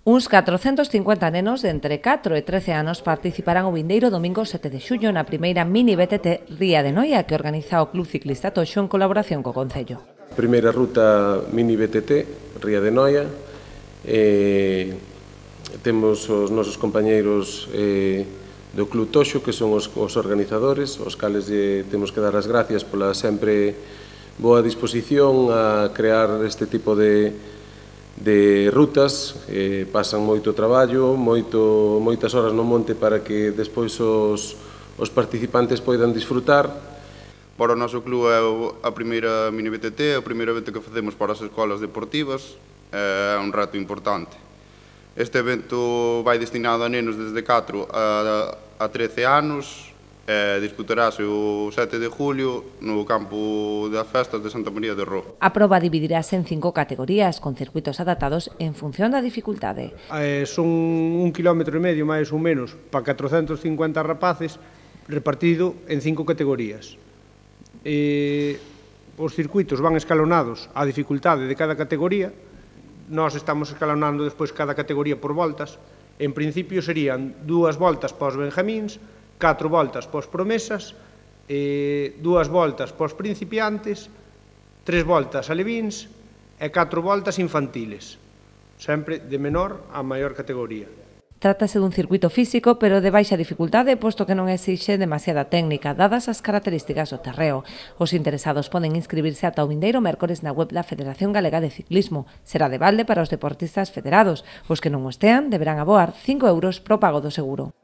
Uns 450 nenos de entre 4 e 13 anos participarán o vindeiro domingo 7 de xullo na primeira mini BTT Ría de Noia que organiza o Club Ciclista Toxo en colaboración co Concello. Primeira ruta mini BTT Ría de Noia. Temos os nosos compañeiros do Club Toxo, que son os organizadores, os cales temos que dar as gracias pola sempre boa disposición a crear este tipo de rutas. Pasan moito traballo, moitas horas no monte para que despois os participantes poidan disfrutar. Para o noso club é a primeira mini BTT, a primeira evento que facemos para as escolas deportivas, é un reto importante. Este evento vai destinado a nenos desde 4 a 13 anos, disputarase o 7 de julio no campo das festas de Santa María de Roo. A proba dividirase en 5 categorías, con circuitos adaptados en función da dificultade. Son 1,5 km máis ou menos para 450 rapaces repartido en 5 categorías. Os circuitos van escalonados á dificultade de cada categoría. Nós estamos escalonando despois cada categoría por voltas. En principio serían 2 voltas para os benjamíns, 4 voltas para os promesas, 2 voltas para os principiantes, 3 voltas alevíns e 4 voltas infantiles, sempre de menor a maior categoría. Trátase dun circuito físico, pero de baixa dificultade, posto que non exixe demasiada técnica, dadas as características do terreo. Os interesados poden inscribirse ata o vindeiro mércores na web da Federación Galega de Ciclismo. Será de balde para os deportistas federados. Os que non o estean deberán aboar 5 € pro pago do seguro.